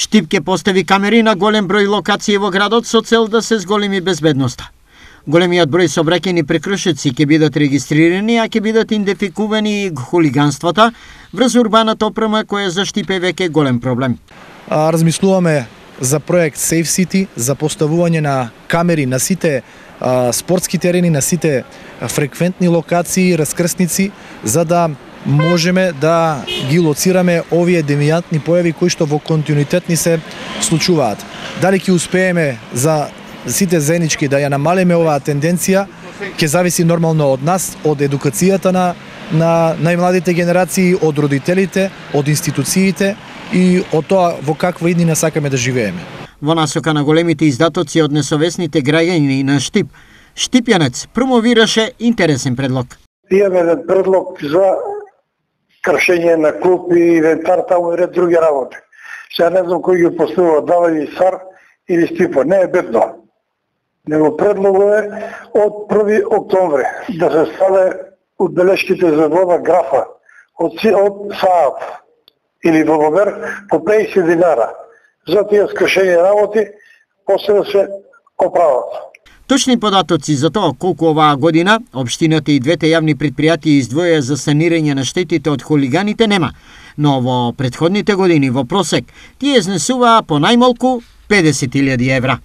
Штип ќе постави камери на голем број локации во градот со цел да се зголеми безбедноста. Големиот број сообраќајни прекршоци ќе бидат регистрирани, а ќе бидат идентификувани и хулиганствата врз урбаната опрема која за Штип е веќе голем проблем. Размислуваме за проект Safe City, за поставување на камери на сите спортски терени, на сите фреквентни локации, раскрсници, за да можеме да ги лоцираме овие девијантни појави кои што во континуитет ни се случуваат. Дали ќе успееме за сите заеднички да ја намалиме оваа тенденција, ќе зависи нормално од нас, од едукацијата на најмладите генерации, од родителите, од институциите и од тоа во каква иднина сакаме да живееме. Во насока на големите издатоци од несовесните граѓани на Штип, Штипјанец промовираше интересен предлог. Имаме еден предлог за кршење на клуп и инвентар таму и ред други работи. Сега не знам кој ги поставува, дава ли САР или Стипо, не е битно. Него предлогот е од 1 октомври да се ставе одбелешките за вода графа од СААП или ВВБ по 50 динара. За тие скршени работи, после да се оправат. Точни податоци за тоа колку оваа година општината и двете јавни предпријатија издвоја за санирање на штетите од хулиганите нема, но во претходните години во просек тие изнесуваа по најмалку 50.000 евра.